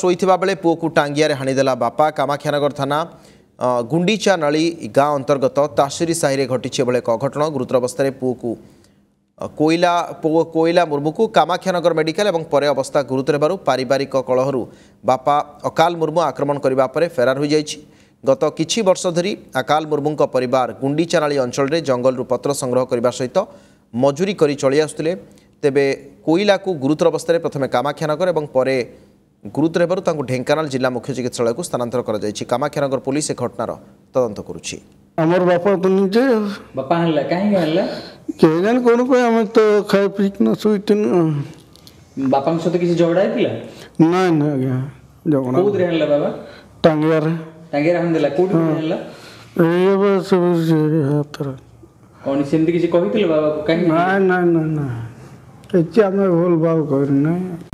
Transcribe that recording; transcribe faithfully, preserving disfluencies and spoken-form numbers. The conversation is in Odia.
ଶୋଇଥିବା ବେଳେ ପୁଅକୁ ଟାଙ୍ଗିଆରେ ହାଣିଦେଲା ବାପା। କାମାକ୍ଷାନଗର ଥାନା ଅ, ଗୁଣ୍ଡିଚା ନାଳି ଗାଁ ଅନ୍ତର୍ଗତ ତାସିରି ସାହିରେ ଘଟିଛି ଏଭଳି ଏକ ଅଘଟଣ। ଗୁରୁତର ଅବସ୍ଥାରେ ପୁଅକୁ ଅ, କୋଇଲା ପୁଅ କୋଇଲା ମୁର୍ମୁକୁ କାମାକ୍ଷାନଗର ମେଡିକାଲ ଏବଂ ପରେ ଅବସ୍ଥା ଗୁରୁତର ହେବାରୁ ପାରିବାରିକ କଳହରୁ ବାପା ଅକାଲ ମୁର୍ମୁ ଆକ୍ରମଣ କରିବା ପରେ ଫେରାର ହୋଇଯାଇଛି। ଗତ କିଛି ବର୍ଷ ଧରି ଅକାଲ ମୁର୍ମୁଙ୍କ ପରିବାର ଗୁଣ୍ଡିଚାନାଳି ଅଞ୍ଚଳରେ ଜଙ୍ଗଲରୁ ପତ୍ର ସଂଗ୍ରହ କରିବା ସହିତ ମଜୁରୀ କରି ଚଳି ଆସୁଥିଲେ। ତେବେ କୋଇଲାକୁ ଗୁରୁତର ଅବସ୍ଥାରେ ପ୍ରଥମେ କାମାକ୍ଷାନଗର ଏବଂ ପରେ ଗୁରୁତର ହେବାରୁ ତାଙ୍କୁ ଢେଙ୍କାନାଳ ଜିଲ୍ଲା ମୁଖ୍ୟ ଚିକିତ୍ସାଳୟକୁ ସ୍ଥାନାନ୍ତର କରାଯାଇଛି। କାମାକ୍ଷାନଗର ପୋଲିସ ଏ ଘଟଣାର ତଦନ୍ତ କରୁଛି। ଆମର ବାପା ତ ନିଜେ। ବାପା ହାଣିଲା, କାହିଁକି ହାଣିଲା? କେଜାଣି କ'ଣ ପାଇଁ, ଆମେ ତ ଖାଇ ପିଇକିନା ଶୋଇଥିନୁ। ବାପାଙ୍କ ସହିତ କିଛି ଝଗଡ଼ା ହେଇଥିଲା? ନାଇଁ ନାଇଁ ଆଜ୍ଞା, ଝଗଡ଼ା। କୋଉଥିରେ ହାଣିଲା ବାବା? ଟାଙ୍ଗିଆରେ। ଟାଙ୍ଗିଆରେ ହାଣିଦେଲା? କୋଉଠି ହାଣିଲା? ଏଇ ଏବେ ସବୁ ସେ ହାତରେ। କ'ଣ ସେମିତି କିଛି କହିଥିଲେ ବାବାକୁ, କାହିଁକି? ନାଇଁ ନାଇଁ ନାଇଁ ନାଇଁ, କିଛି ଆମେ ଭୁଲ ଭାଲ କରିନାହିଁ।